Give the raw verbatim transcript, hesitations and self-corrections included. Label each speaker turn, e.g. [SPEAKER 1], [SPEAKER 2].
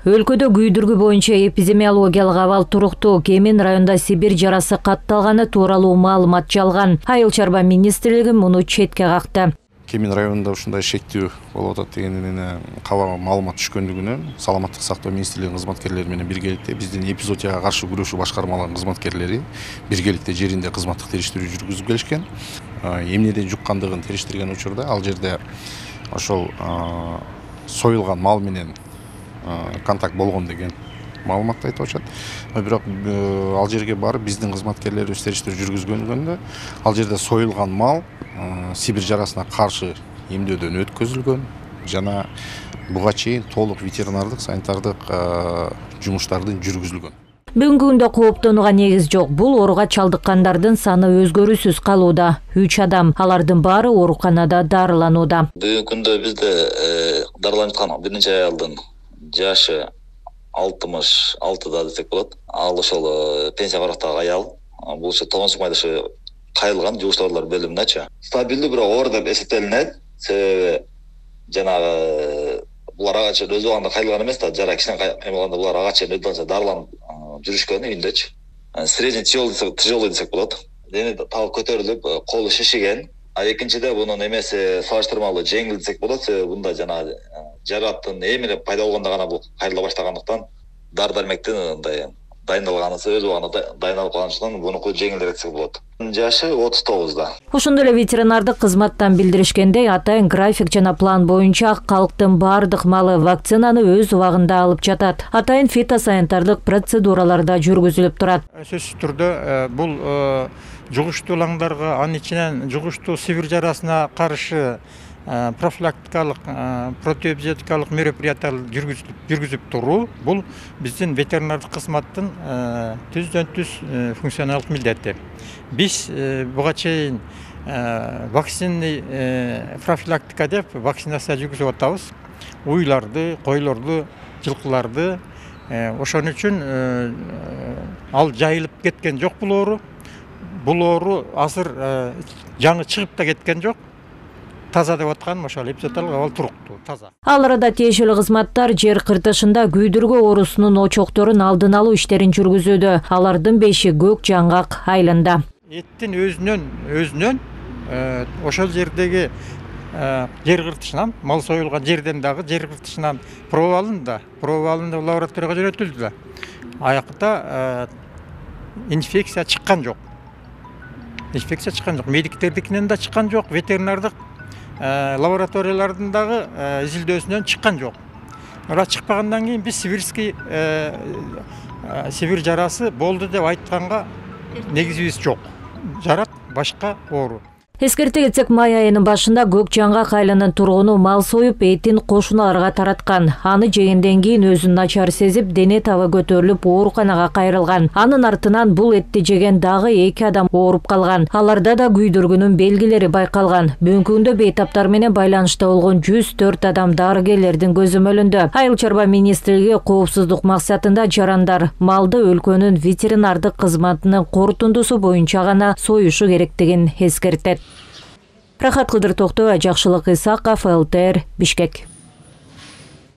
[SPEAKER 1] Өлкөдө күйдүргү боюнча эпидемиологиялык абал туруктуу. Кемин районда Сибирь жарасы катталганы тууралуу маалымат жалган. Айыл чарба министрлиги муну четке какты.
[SPEAKER 2] Кемин районунда ушундай шектүү болуп атат дегенин каба маалымат түшкөндүгүнөн саламаттык сактоо министрлигинин кызматкерлери менен биргеликте биздин эпизоотияга каршы күрөшүү башкармаларынын кызматкерлери биргеликте жеринде кызматтык териштирүү жүргүзүп келишкен. Эмнеден жуккандыгын териштирген учурда ал жерде ошол союлган мал менен контакт болгон деген маалыматты айтып атышат. Бирок ал жерге барып биздин кызматкерлерибиз териштирүү жүргүзгөндө ал жерде союлган мал Сибирь жарасына каршы эмдөөдөн өткөзүлгөн жана буга чейин толук ветеринардык санитардык жумуштардын жүргүзүлгөн.
[SPEAKER 1] Бүгүнкү күндө кооптонууга негиз жок. Бул ооруга чалдыккандардын саны өзгөрүүсүз калууда. үч адам, алардын баары ооруканада дарыланууда.
[SPEAKER 3] Бүгүнкү күндө бизде дарыланып аткан бир нече аялдын жашы алтымыш алтыда десек болот. Ал ошол пенсия барактагы аял. Бул ошо тогонсук майдашы кайрылган жугуштарлар бөлүмүнөчү. Стабилдүү бирок оор деп эсептелинет. Себеби жанагы булар ага чейин өз убагында кайрылган эмес да, жара кичине каймалганда булар ага чейин өздөрүнчө дарыланып жүрүшкөн үйүндөчү. Средний тяжелый десек болот. Дени так көтөрүлүп, колу шишиген. А экинчиде бунун эмеси салыштырмалуу жеңил десек болот. Себеби бунда жанагы жараттын эмелеп пайда болгондо гана бул кайрыла баштагандыктан дары дармектин мындай дайындалганысы өз убагында дайындалып калгандыктан бунуку жеңилдерээк десек болот. Жашы отуз тогузда.
[SPEAKER 1] Ошондой эле ветеринардык кызматтан билдиришкендей, атайын график жана план боюнча калктын баардык малы вакцинаны өз убагында алып жатат. Атайын фитосанитардык процедуралар да жүргүзүлүп турат.
[SPEAKER 4] Сөзсүз түрдө бул жугуштуулаңдарга, анын ичинен жугуштуу Сибирь жарасына каршы профилактикалык, противоэпизоотикалык мероприятиялар жүргүзүп туруу бул биздин ветеринардык кызматтын түздөн түз функционалдык милдети. Биз буга чейин вакцинный профилактика деп вакцинация жүргүзүп атабыз. Уйларды, койлорду, жылкыларды. Ошон үчүн ал жайылып кеткен жок бул оору. Бул оору азыр жаңы чыгып да кеткен жок. Таза деп аткан ошол эпизооталык абал туруктуу, таза.
[SPEAKER 1] Ал арада тиешелүү кызматтар жер кыртышында күйдүргү оорусунун очокторун алдын алуу иштерин жүргүзүүдө. Алардын беши Көк Жаңгак айылында.
[SPEAKER 4] Эттин өзүнөн өзүнөн ошол жердеги жер кыртышынан, мал союлган жерден дагы жер кыртышынан проба алынды. Проба алынды, лабораторияга жөнөтүлдү. Аякта инфекция чыккан жок. Инфекция чыккан жок. Медиктердикинен да чыккан жок, ветеринардык лабораториялардын дагы изилдөөсүнөн чыккан жок. Ара чыкпагандан кийин биз сибирский Сибирь жарасы болду деп айтканга негизибиз жок. Жарат башка оору.
[SPEAKER 1] Эскерте кетсек, май айынын башында Көк Жаңгак айылынын тургуну мал союп, этин кошуналарга тараткан. Аны жегенден кийин өзүн начар сезип, дене табы көтөрүлүп, ооруканага кайрылган. Анын артынан бул этти жеген дагы эки адам ооруп калган. Аларда да күйдүргүнүн белгилери байкалган. Бүгүнкү күндө бейтаптар менен байланышта болгон жүз төрт адам дарыгерлердин көзөмөлүндө. Айыл чарба министрлиги коопсуздук максатында жарандар малды өлкөнүн ветеринардык кызматынын корутундусу боюнча гана союшу керектигин эскертет. Рахат Кыдыр Токтоева, Жакшылык Исаков, эл тэ эр, Бишкек.